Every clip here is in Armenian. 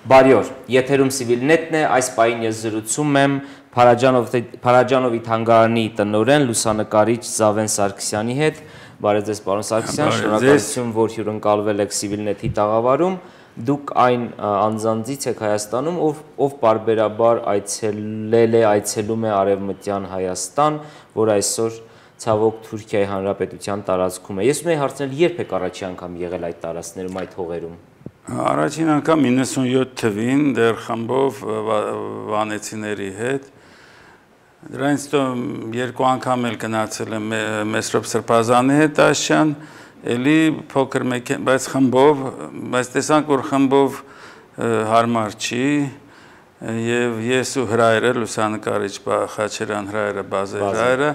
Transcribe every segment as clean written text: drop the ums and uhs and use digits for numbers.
Բարի օր, եթերում Civilnet-ն է, այս պահին ես զրուցում եմ Փարաջանովի թանգարանի տնօրեն լուսանկարիչ Զավեն Սարգսյանի հետ։ Բարև ձեզ, պարոն Սարգսյան, շնորհակալություն, որ հյուրընկալվել եք Civilnet-ի տաղավարում։ Դուք այն անձանցից եք Հայաստանում, ով պարբերաբար այցելում է Արևմտյան Հայաստան, որ այսօր ցավոք Թուրքիայի Հանրապետության տարածքում է։ Ես ունեի հարցնել, երբ եք առաջի անգամ եղել այդ տարածքներում, այդ հողերում։ Առաջին անգամ 97 թվին դեռ խմբով վանեցիների հետ։ Դրանից հետո երկու անգամ էլ գնացել եմ Մեսրոպ Սրբազանի հետ Աշյան, էլի փոքր բայց խմբով, բայց տեսանք, որ խմբով հարմար չի, եւ ես ու հրայրը լուսանկարիչ Խաչերյան հրայրը, Բազեր հրայրը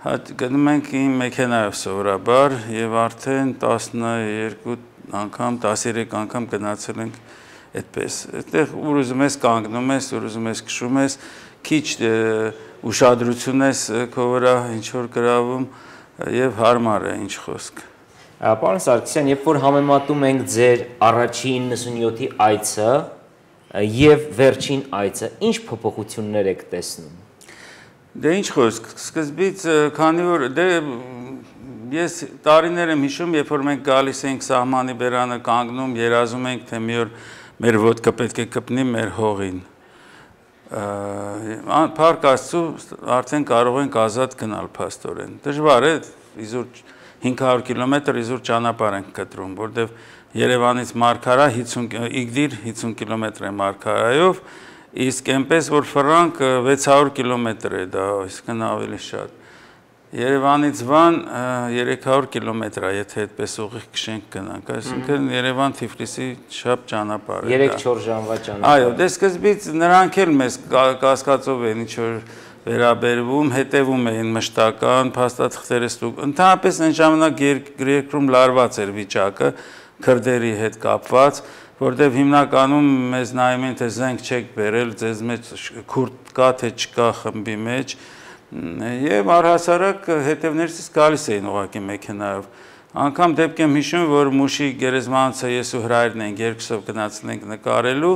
գնում ենք իմ մեքենայով սովորաբար եւ արդեն 12 անգամ 13 անգամ գնացել ենք այդպես։ Այդտեղ ուր ուզում ես կանգնում ես, ուր ուզում ես քշում ես, քիչ ուշադրություն ես քո վրա ինչ որ գրավում եւ հարմար է ինչ խոսք։ Պարոն Սարգսյան, երբ որ համեմատում ենք ձեր առաջին 97-ի այցը եւ վերջին այցը, ինչ փոփոխություններ եք տեսնում։ Դե ինչ խոսք, սկզբից քանի որ ես տարիներ եմ հիշում, երբ որ մենք գալիս ենք սահմանի բերանը կանգնում, երազում ենք, թե մի օր մեր ոտքը պետք է կպնի մեր հողին։ Փառք Աստծո, արդեն կարող ենք ազատ գնալ փաստորեն։ Դժվար է, իզուր 500 կիլոմետր իզուր ճանապարհ ենք կտրում, որտեղ Երևանից Մարգարա 50 կիլոմետր է Մարգարայով, իսկ այնպես որ Ֆրանկ 600 կիլոմետր է դա, այսինքն ավելի շատ։ Երևանից Վան 300 կիլոմետր է, եթե այդպես ուղիղ քշենք գնանք, այսինքն Երևան Թիֆլիսի շապ ճանապարհ է։ 3-4 ժամվա ճանապարհ։ Այո, դե սկզբից նրանք էլ մեզ կասկածով են ինչ որ վերաբերվում, հետևում էին մշտական փաստաթղթերը ստուգ։ Ընդհանրապես այն ժամանակ երկրում լարված էր վիճակը քրդերի հետ կապված, որտեղ հիմնականում մեզ նայում են, թե զենք չեք բերել, ձեզ մեջ քուրդ կա, թե չկա խմբի մեջ, եւ առհասարակ հետևներս գալիս էին ուղակի մեքենայով։ Անգամ դեպք եմ հիշում, որ Մուշի գերեզմանոցը ես ու հրայրն ենք երկուսով գնացել ենք նկարելու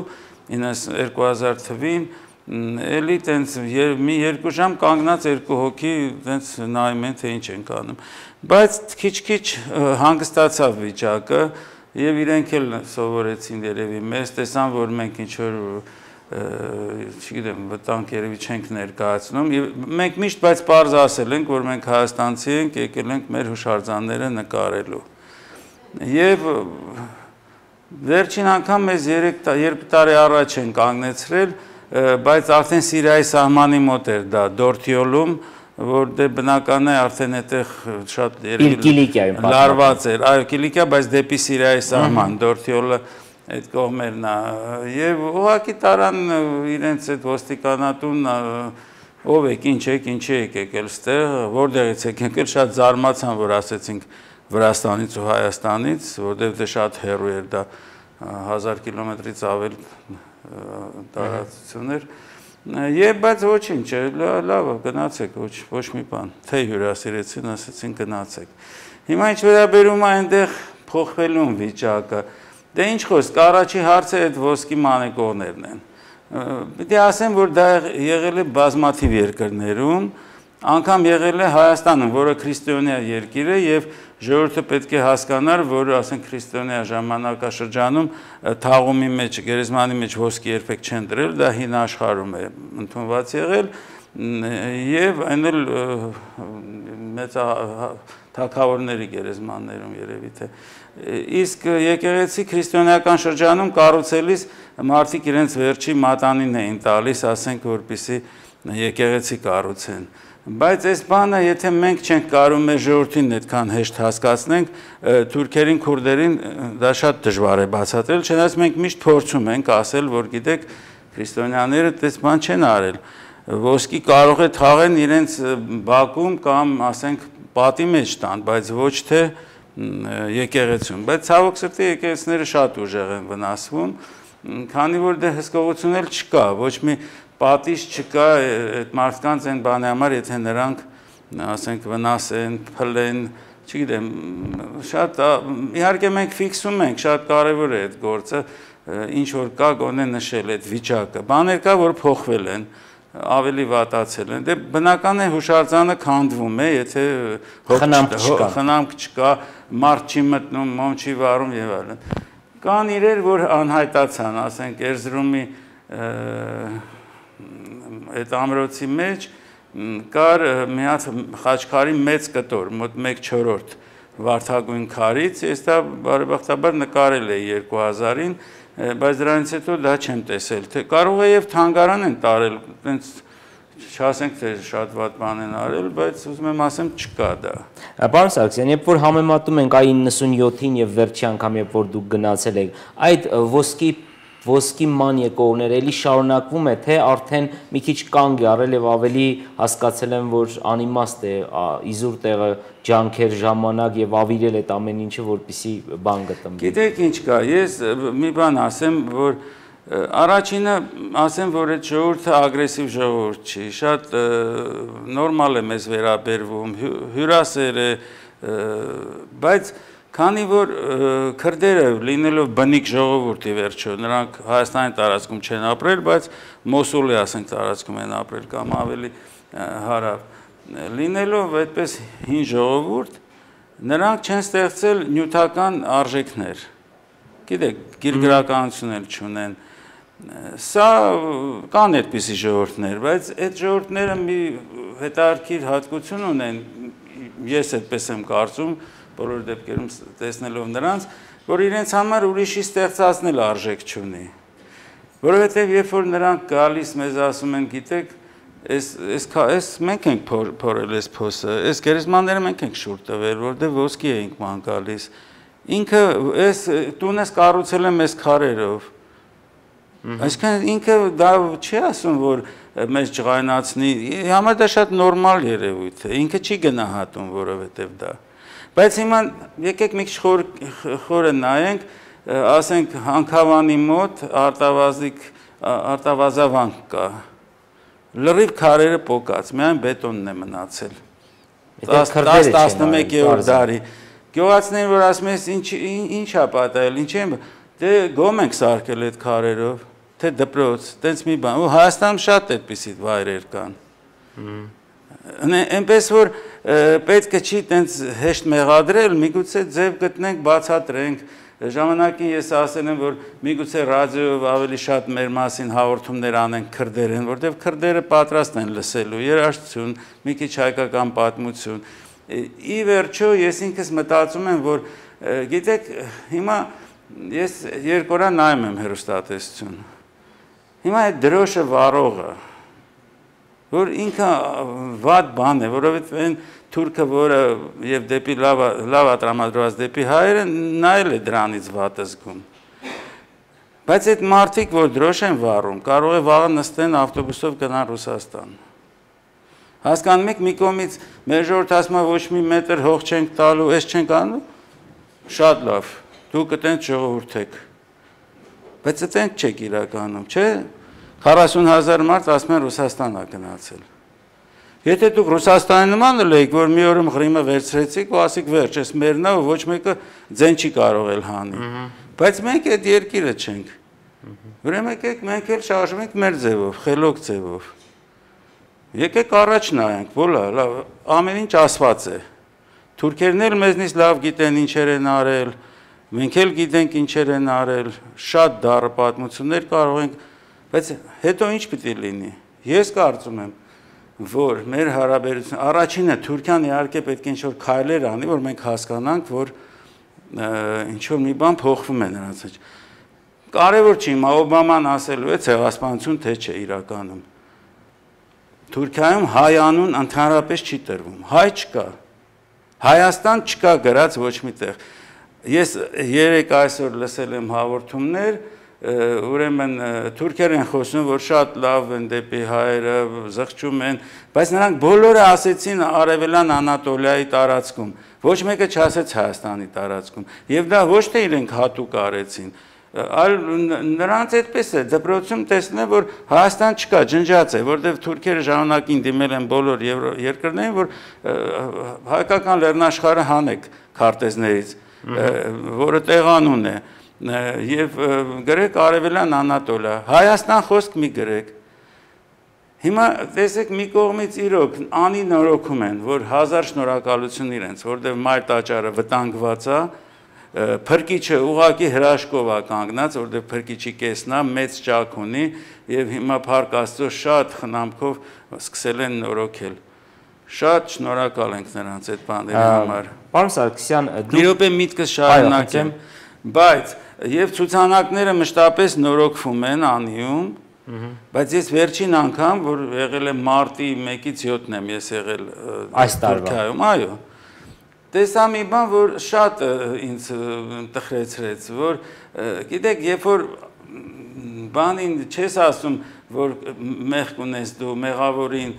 2000 թվին, էլի տենց մի երկու ժամ կանգնած երկու հոգի տենց նայում են, թե ինչ ենք անում։ Բայց քիչ-քիչ հանգստացավ վիճակը եւ իրենք էլ սովորեցին երևի մեզ, տեսան, որ մենք ինչ որ չգիտեմ, վտանգ երևի չենք ներկայացնում եւ մենք միշտ բայց պարզ ասել ենք, որ մենք հայաստանցի ենք, եկել ենք մեր հուշարձանները նկարելու։ Եվ վերջին անգամ մեզ 2 տարի առաջ են կանգնեցրել, բայց արդեն Սիրիայի սահմանի մոտ էր դա Դորթիոլում, որտեղ բնական է արդեն այդտեղ շատ Կիլիկիայում լարված էր, այո, Կիլիկիա, բայց դեպի Սիրիայի սահման, Դորթիոլը այդ կողմերն է, եւ ուղղակի տարան իրենց այդ ոստիկանատուն ով եք, ինչ եք, ինչի եք եկել ստեղ, որտեղից եք եկել, շատ զարմացան, որ ասեցինք Վրաստանից ու Հայաստանից, որտեղ դե շատ հեռու էր դա 1000 կիլոմետրից ավել տարածություն էր, եւ բայց ոչինչ, լավ, գնացեք, ոչ մի բան, թե հյուրասիրեցին, ասեցին գնացեք։ Հիմա ինչ վերաբերում է այնտեղ փոխվելուն վիճակը, դե ինչ խոսք, առաջի հարցը այդ ոսկի մանեկողներն են։ Պիտի ասեմ, որ դա եղել է բազմաթիվ երկրներում, անգամ եղել է Հայաստանում, որը քրիստոնյա երկիր է եւ ժողովուրդը պետք է հասկանար, որ ասենք քրիստոնյա ժամանակաշրջանում թաղումի մեջ, գերեզմանի մեջ ոսկի երբեք չեն դրել, դա հին աշխարհում է ընդունված եղել եւ այն էլ մեծ թագավորների գերեզմաններում երևի թե իսկ եկեղեցի քրիստոնեական շրջանում կառուցելիս մարդիկ իրենց վերջի մատանին էին տալիս, ասենք որպեսզի եկեղեցի կառուցեն։ Բայց այս բանը, եթե մենք չենք կարող մեր ժողովրդին այդքան հեշտ հասկացնենք, թուրքերին, քուրդերին դա շատ դժվար է բացատրել, չնայած մենք միշտ փորձում ենք ասել, որ գիտեք, քրիստոնյաները այդպես բան չեն արել։ Ոսկի կարող է թաղեն իրենց բակում կամ ասենք պատի մեջ տան, բայց ոչ թե եկեղեցում, բայց ցավոք սրտի եկեղեցիները շատ ուժեղ են վնասվում, քանի որ դե հսկողություն էլ չկա, ոչ մի պատիժ չկա այդ մարդկանց այն բանի համար, եթե նրանք ասենք վնասեն, փլեն, չգիտեմ, շատ իհարկե մենք ֆիքսում ենք, շատ կարևոր է այդ գործը, ինչ որ կա գոնե նշել այդ վիճակը։ Բաներ կա, որ փոխվել են, ավելի վատացել են։ Դե բնական է հուշարձանը քանդվում է, եթե խնամք չկա, մարդ չի մտնում, մոմ չի վառում եւ այլն։ Կան իրեր, որ անհայտացան, ասենք Էրզրումի այդ ամրոցի մեջ կար մի հատ խաչքարի մեծ կտոր, մոտ 1/4 վարդագույն քարից, ես դա բարեբախտաբար նկարել էի 2000-ին, բայց դրանից հետո դա չեմ տեսել, թե կարող է եւ թանգարան են տարել, այնց չասենք թե շատ վատ բան են արել, բայց ուզում եմ ասեմ չկա դա։ Պարոն Սարգսյան, երբ որ համեմատում ենք այ 97-ին եւ վերջի անգամ երբ որ դուք գնացել եք, այդ ոսկի ման եկողները էլի շարունակվում է, թե արդեն մի քիչ կանգ է առել եւ ավելի հասկացել են, որ անիմաստ է իզուր տեղը ջանքեր ժամանակ եւ ավիրել այդ ամեն ինչը, որպեսի բան գտնվի։ Գիտեք ինչ կա, ես մի բան ասեմ, որ առաջինը ասեմ, որ այդ ժողովուրդը ագրեսիվ ժողովուրդ չի, շատ նորմալ է մեզ վերաբերվում, հյուրասեր է, բայց քանի որ քրդերը լինելով բնիկ ժողովուրդ ի վերջո, նրանք Հայաստանի տարածքում չեն ապրել, բայց Մոսուլի ասենք տարածքում են ապրել կամ ավելի հարավ, լինելով այդպես հին ժողովուրդ, նրանք չեն ստեղծել նյութական արժեքներ։ Գիտեք, գիրգրականություն էլ չունեն։ Սա կան այդպիսի ժողովուրդներ, բայց այդ ժողովուրդները մի հետաքրքիր հատկություն ունեն, ես այդպես եմ կարծում, բոլոր դեպքերում տեսնելով նրանց, որ իրենց համար ուրիշի ստեղծածնել արժեք չունի։ Որովհետև երբ որ նրանք գալիս մեզ ասում են, գիտեք, այս մենք ենք փորել այս փոսը, այս գերեզմանները մենք ենք շուռ տվել, որտեղ ոսկի էինք ման գալիս։ Ինքը այս տունս կառուցել եմ այս քարերով։ Այսինքն ինքը դա չի ասում, որ մեզ ջղայնացնի, համար դա շատ նորմալ երևույթ է, ինքը չի գնահատում, որովհետև դա։ Բայց հիմա եկեք մի քիչ խորը նայենք, ասենք Հանքավանի մոտ արտավազավանք կա։ Լրիվ քարերը պոկած, միայն բետոնն է մնացել։ 10-11-րդ դարի։ Գյուղացիներին որ ասում են, ինչ է պատահել, ինչ են, դե գոմ ենք սարքել այդ քարերով, թե դպրոց, տենց մի բան։ Ու Հայաստանում շատ այդպիսի վայրեր կան։ Այնպես որ պետք է չի տենց հեշտ մեղադրել, միգուցե ձև գտնենք, բացատրենք, ժամանակին ես ասել եմ, որ միգուցե ռադիոյով ավելի շատ մեր մասին հաղորդումներ անենք քրդերեն, որտեղ քրդերը պատրաստ են լսելու երաժշտություն, մի քիչ հայկական պատմություն։ Ի վերջո ես ինքս մտածում եմ, որ գիտեք, հիմա ես երկու օր նայում եմ հեռուստատեսություն։ Հիմա այդ դրոշը վառողը որ ինքը վատ բան է, որովհետև այն թուրքը, որը եւ դեպի լավ տրամադրված դեպի հայերը նայել է դրանից վատ զգում։ Բայց այդ մարդիկ, որ դրոշ են վառում, կարող է վաղը նստեն ավտոբուսով գնան Ռուսաստան։ Հասկանում եք, մի կողմից մեր ժողովուրդը ասում է ոչ մի մետր հող չենք տալու, այս չենք անում, շատ լավ, դուք այդտենց ժողովուրդ եք։ Բայց այդտենց չեք իրականում, չէ՞։ 40,000 մարդ ասում են Ռուսաստան է գնացել։ Եթե դուք Ռուսաստանի նման եք, որ մի օրում Ղրիմը վերցրեցիք ու ասիք վերջ, այս մերն է, ոչ մեկը ձեն չի կարող էլ հանի։ Բայց մենք այդ երկիրը չենք։ Ուրեմն եկեք մենք էլ շարժվում ենք մեր ձևով, խելոք ձևով։ Եկեք առաջ նայենք, ոլա, լավ, ամեն ինչ ասված է։ Թուրքերն էլ մեզնից լավ գիտեն ինչեր են արել, մենք էլ գիտենք ինչեր են արել, շատ դառը պատմություններ կարող ենք, բայց հետո ինչ պիտի լինի։ Ես կարծում եմ, որ մեր հարաբերությունը առաջինը Թուրքիան իհարկե պետք է ինչ-որ քայլեր անի, որ մենք հասկանանք, որ ինչ-որ մի բան փոխվում է նրանց մեջ։ Կարևոր չի, Օբաման ասելու է ցեղասպանություն թե չէ իրականում։ Թուրքիայում հայ անուն ընդհանրապես չի տրվում, հայ չկա։ Հայաստան չկա գրած ոչ մի տեղ։ Ես երեք այսօր լսել եմ հաղորդումներ, ուրեմն թուրքեր են խոսում, որ շատ լավ են դեպի հայերը, զղջում են, բայց նրանք բոլորը ասեցին Արևելյան Անատոլիայի տարածքում, ոչ մեկը չասեց Հայաստանի տարածքում, եւ դա ոչ թե իրենք հատուկ արեցին, Այլ նրանց այդպես է, դպրոցում տեսնեն, որ Հայաստան չկա, ջնջած է, որտեղ թուրքերը ժամանակին դիմել են բոլոր երկրներին, որ հայկական լեռնաշխարհը հանեք քարտեզներից, որը տեղանուն է, եւ գրեք Արևելյան Անատոլիա, Հայաստան խոսք մի գրեք։ Հիմա տեսեք մի կողմից իրոք անի նորոգում են, որ 1000 շնորհակալություն իրենց, որտեղ մայր տաճարը վտանգված է, Փրկիչը ուղակի հրաշքով է կանգնած, որտեղ փրկիչի կեսն է, մեծ ճաք ունի եւ հիմա Փառք Աստծո շատ խնամքով սկսել են նորոգել։ Շատ շնորհակալ ենք նրանց այդ բաների համար։ Պարոն Սարգսյան, մի րոպե միտքս շարունակեմ, բայց եւ ցուցանակները մշտապես նորոգվում են անիում, բայց ես վերջին անգամ, որ եղել եմ մարտի 1-ից 7-ն եմ ես եղել այս Թուրքիայում, այո։ Տեսա մի բան, որ շատ ինձ տխրեցրեց, որ գիտեք, երբ որ բանին չես ասում, որ մեղք ունես դու, մեղավորին,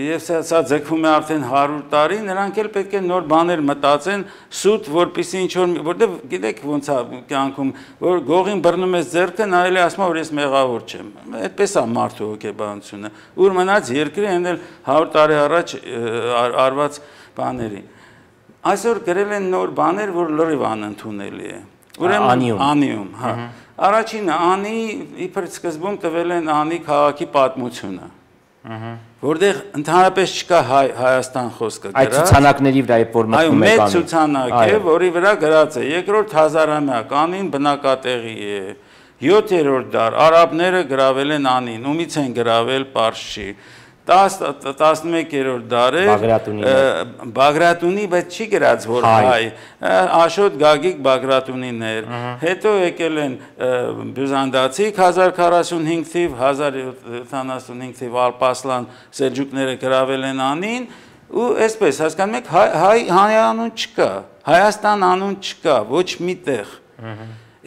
եւ սա ձգվում է արդեն 100 տարի, նրանք էլ պետք է նոր բաներ մտածեն, սուտ, որպեսզի ինչ որ, որտեվ գիտեք ոնց է կյանքում, որ գողին բռնում ես ձեռքը, նա էլ ասում է, որ ես մեղավոր չեմ։ Այդպես է մարդու հոգեբանությունը։ Ուր մնաց երկրի այն էլ 100 տարի առաջ արված բաների։ Այսօր գրել են նոր բաներ, որ լրիվ անընդունելի է։ Ուրեմն անիում, հա։ Առաջինը անի իբր սկզբում տվել են անի քաղաքի պատմությունը։ Որտեղ ընդհանրապես չկա Հայաստան խոսքը գրած։ Այդ ցուցանակների վրա է որ մտնում է անի։ Այո, մեծ ցուցանակ է, որի վրա գրած է երկրորդ հազարամյակ անին բնակատեղի է։ 7-րդ դար արաբները գրավել են անին, ումից են գրավել Պարսչի։ 11-րդ դարը Բագրատունի, բայց չի գրած որ հայ, Աշոտ Գագիկ Բագրատունիներ, հետո եկել են բյուզանդացիք 1045 թիվ, 1075 թիվ Ալպասլան Սելջուկները գրավել են անին, ու այսպես հասկանում եք հայ անուն չկա, Հայաստան անուն չկա, ոչ միտեղ։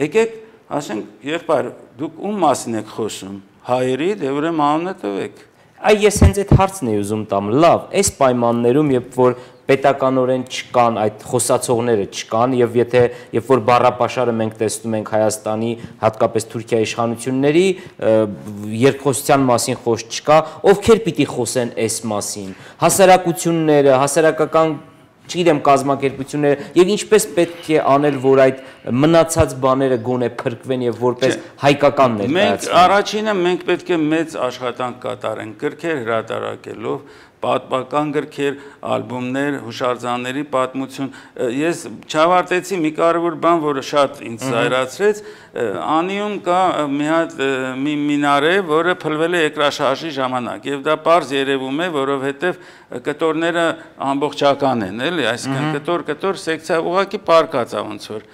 Եկեք, ասենք, եղբայր, դուք ում մասին եք խոսում, հայերի, դե ուրեմն անունը տվեք։ Այ ես հենց այդ հարցն էի ուզում տամ, լավ, այս պայմաններում, երբ որ պետականորեն չկան, այդ խոսացողները չկան, եւ երբ որ բառապաշարը մենք տեսնում ենք Հայաստանի, հատկապես Թուրքիայի իշխանությունների, երկխոսության մասին խոսք չկա, ովքեր պիտի խոսեն այս մասին, հասարակությունները, հասարակական չգիտեմ կազմակերպությունները եւ ինչպես պետք է անել, որ այդ մնացած բաները գոնե փրկվեն եւ որպես հայկական ներկայացվեն։ Մենք առաջինը մենք պետք է մեծ աշխատանք կատարենք գրքեր հրատարակելով, պատմական գրքեր, ալբոմներ, հուշարձանների պատմություն։ Ես չավարտեցի մի կարևոր բան, որը շատ ինձ զայրացրեց, անիում կա մի հատ մի մինարե, որը փլվել է երկրաշարժի ժամանակ, եւ դա պարզ երևում է, որովհետեւ կտորները ամբողջական են, էլի, այսինքն կտոր սեկցիա ուղղակի պարկած է ոնց որ։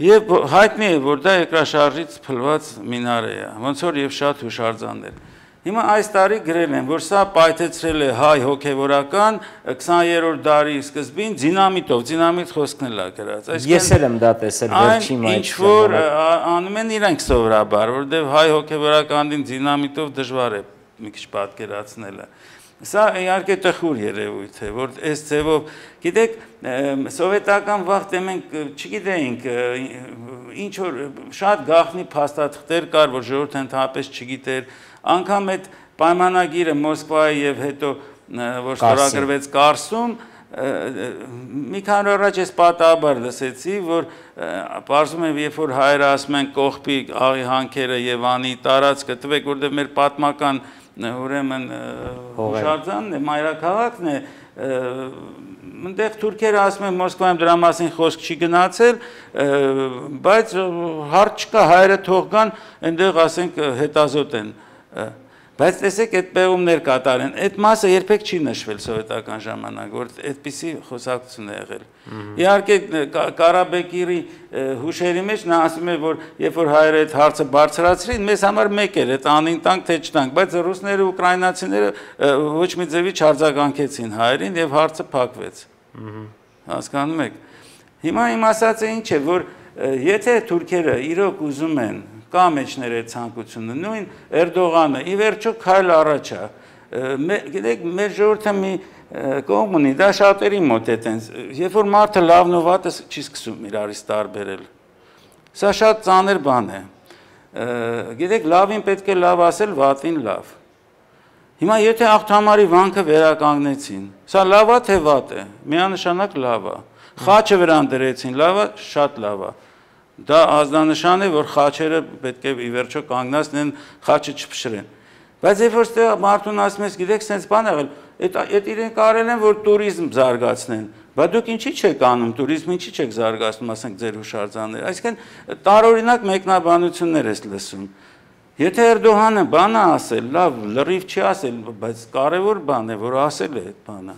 Եվ հայտնի է, որ դա երկրաշարժից փլված մինարե է, ոնց որ եւ շատ հուշարձաններ։ Հիմա այս տարի գրել են, որ սա պայթեցրել է հայ հոգևորական 20-րդ դարի սկզբին դինամիտով, դինամիտ խոսքն էլ է գրած։ Ես էլ եմ դա տեսել վերջի մայիսին։ Ինչ որ անում են իրենք սովորաբար, որովհետև հայ հոգևորականին դինամիտով դժվար է մի քիչ պատկերացնելը։ Սա իհարկե տխուր երևույթ է, որ այս ձևով, գիտեք, սովետական վաղ մենք չգիտեինք, ինչ որ շատ գաղտնի փաստաթղթեր կար, որ ժողովուրդը ընդհանրապես չգիտեր, անգամ այդ պայմանագիրը Մոսկվայի եւ հետո որ ստորագրվեց Կարսում, մի քանի օր առաջ ես պատահաբար լսեցի, որ պարզում եմ, երբ որ հայերը ասում են կողպի աղի հանքերը եւ անի տարածքը տվեք, որտեղ մեր պատմական ուրեմն հուշարձանն է, մայրաքաղաքն է, այնտեղ թուրքերը ասում են Մոսկվայում դրա մասին խոսք չի գնացել, բայց հարց չկա, հայերը թող գան, այնտեղ ասենք հետազոտ են։ Բայց տեսեք այդ պեղումներ կատարեն, այդ մասը երբեք չի նշվել սովետական ժամանակ, որ այդպիսի խոսակցություն է եղել։ Իհարկե Ղարաբեկիրի հուշերի մեջ նա ասում է, որ երբ որ հայերը այդ հարցը բարձրացրին, մեզ համար մեկ էր, այդ անին տանք թե չտանք, բայց ռուսները ու ուկրաինացիները ոչ մի ձևի չարձագանքեցին հայերին եւ հարցը փակվեց։ Հասկանում եք։ Հիմա իմ ասածը ինչ է, որ եթե թուրքերը իրոք ուզում են կա մեջներ այդ ցանկությունը, նույն Էրդողանը, ի վերջո քայլ առաջ է, գիտեք, մեր ժողովուրդը մի կողմ ունի, դա շատերի մոտ է տենց, երբ որ մարդը լավն ու վատը չի սկսում իրարից տարբերել, Սա շատ ծանր բան է։ Գիտեք, լավին պետք է լավ ասել, վատին լավ։ Հիմա եթե աղթամարի վանքը վերականգնեցին, սա լավ է թե վատ է, միանշանակ լավ է։ Խաչը վրան դրեցին, լավ է, շատ լավ է։ Դա ազդանշան է, որ խաչերը պետք է ի վերջո կանգնացնեն, խաչը չփշրեն։ Բայց երբ որ ստեղ մարդուն ասում ես, գիտեք, sense բան եղել, այդ իրենք արել են, որ туриզմ զարգացնեն։ Բայց դուք ինչի չեք անում, туриզմը ինչի չեք զարգացնում, ասենք ձեր հուշարձանները։ Այսինքն տարօրինակ մեկնաբանություններ ես լսում։ Եթե Էրդողանը բան է ասել, լավ, լրիվ չի ասել, բայց կարևոր բան է, որ ասել է այդ բանը։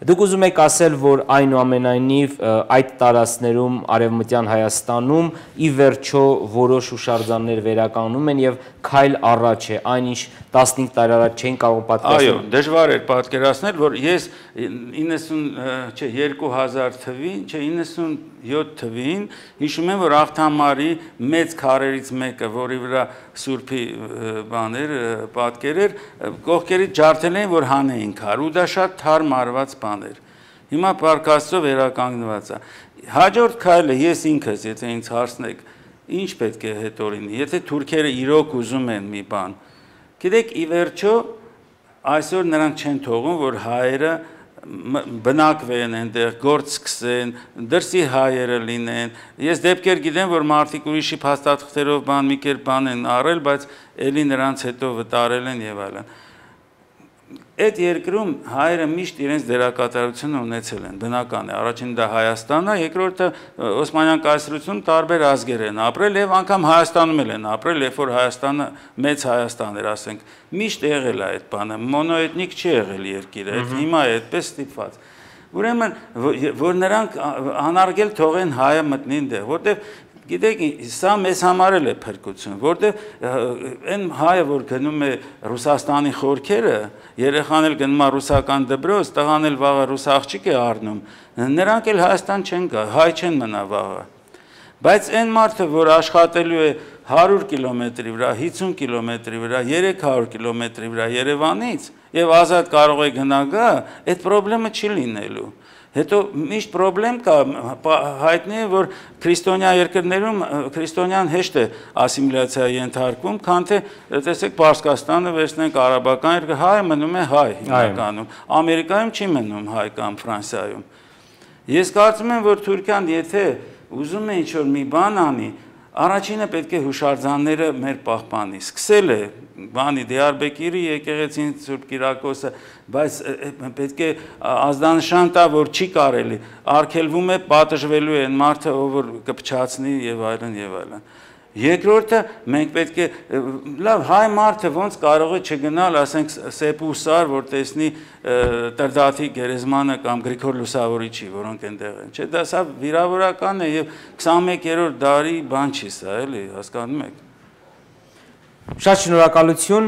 Դուք ուզում եք ասել, որ այնուամենայնիվ այդ տարածքներում Արևմտյան Հայաստանում ի վերջո որոշ հուշարձաններ վերականգնում են եւ քայլ առաջ է, այնինչ 15 տարի առաջ չէին կարող պատկերացնել։ Այո, դժվար էր պատկերացնել, որ ես 2000 թվին, 97 թվին հիշում եմ, որ Աղթամարի մեծ քարերից մեկը, որի վրա Սուրբի բաներ պատկեր էր, կողքերից ջարդել էին, որ հանեին քար, ու դա շատ թարմ արված բան էր։ Հիմա Փառք Աստծո վերականգնված է։ Հաջորդ քայլը ես ինքս, եթե ինձ հարցնեք, ինչ պետք է հետո լինի, եթե թուրքերը իրոք ուզում են մի բան։ Գիտեք, ի վերջո այսօր նրանք չեն թողում, որ հայերը բնակվեն այնտեղ, գործ սկսեն, դրսի հայերը լինեն։ Ես դեպքեր գիտեմ, որ մարդիկ ուրիշի փաստաթղթերով բան մի կերպ բան են առել, բայց ելի նրանց հետո վտարել են եւ այլն։ Այդ երկրում հայերը միշտ իրենց դերակատարությունը ունեցել են, բնական է։ Առաջին դա Հայաստանն է, երկրորդը Օսմանյան կայսրությունում տարբեր ազգեր են ապրել եւ անգամ Հայաստանում են ապրել, երբ որ Հայաստանը մեծ Հայաստան էր, ասենք, միշտ եղել է այդ բանը, մոնոէթնիկ չի եղել երկիրը, հիմա է այդպես ստիպված։ Ուրեմն, որ նրանք անարգել թողեն հայը մտնի այնտեղ, որտեղ գիտեք, սա մեզ համար է փրկություն, որտեղ այն հայը, որ գնում է Ռուսաստանի խորքերը, երեխան էլ գնում է ռուսական դպրոց, տղան էլ վաղը ռուս աղջիկ է առնում, նրանք էլ Հայաստան չեն գա, հայ չեն մնա վաղը։ Բայց այն մարդը, որ աշխատելու է 100 կիլոմետրի վրա, 50 կիլոմետրի վրա, 300 կիլոմետրի վրա Երևանից եւ ազատ կարող է գնա գա, այդ խնդրումը չի լինելու։ Հետո միշտ խնդրեմ կա, հայտնի է, որ քրիստոնյա երկրներում քրիստոնյան հեշտ է ասիմիլյացիա ենթարկվում, քան թե տեսեք Պարսկաստանը վերցնենք արաբական երկրը, հայը մնում է հայ հիմնականում, Ամերիկայում չի մնում հայ կամ Ֆրանսիայում։ Ես կարծում եմ, որ Թուրքիան եթե ուզում է ինչ-որ մի բան անի, առաջինը պետք է հուշարձանները մեր պահպանի, սկսել է բանի Դիարբեկիրի եկեղեցին Սուրբ Կիրակոսը, բայց պետք է ազդանշան տա, որ չի կարելի, արգելվում է պատժվելու է այն մարդը, ով որ կփչացնի եւ այլն եւ այլն։ Երկրորդը մենք պետք է լավ հայ մարդը ոնց կարող է չգնալ, ասենք Սեպուսար, որ տեսնի Տրդատի գերեզմանը կամ Գրիգոր Լուսավորիչի, որոնք այնտեղ են։ Չէ, դա սա վիրավորական է եւ 21-րդ դարի բան չի սա, էլի, հասկանում եք։ Շատ շնորհակալություն,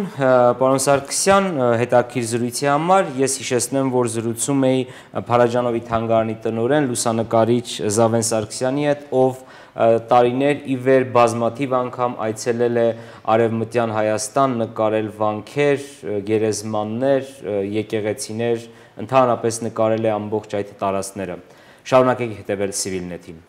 պարոն Սարգսյան, հետաքրքիր զրույցի համար։ Ես հիշեցնեմ, որ զրուցում էի Փարաջանովի թանգարանի տնօրեն, լուսանկարիչ Զավեն Սարգսյանի հետ, ով տարիներ ի վեր բազմաթիվ անգամ այցելել է Արևմտյան Հայաստան, նկարել վանքեր, գերեզմաններ, եկեղեցիներ, ընդհանրապես նկարել է ամբողջ այդ տարածքները։ Շարունակեք հետևել Civilnet-ին։